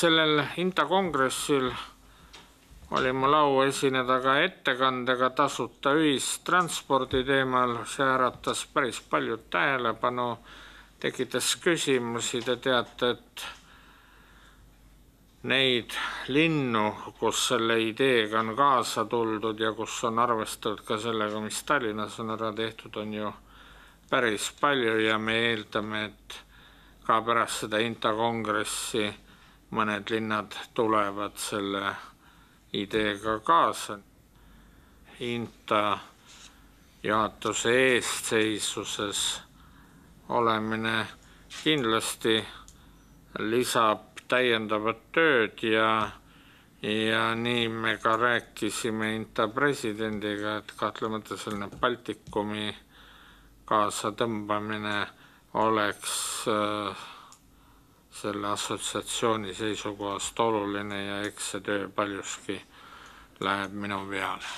Sellel INTA kongressil oli mul au esineda ka ettekandega tasuta ühistranspordi teemal. See äratas päris palju tähelepanu, tekitas küsimusi. Te teate, et neid linnu, kus selle ideega on kaasa tuldud ja kus on arvestatud ka sellega, mis Tallinnas on ära tehtud, on ju päris palju ja me eeldame, et ka pärast seda INTA kongressi mõned linnad tulevad selle ideega kaasa. INTA juhatuse eestseisuses olemine kindlasti lisab täiendavat tööd ja nii me ka rääkisime INTA presidendiga, et kahtlemata selline Baltikumi kaasatõmbamine oleks selle assotsiatsiooni seisukohast oluline ja eks see töö paljuski läheb minu peale.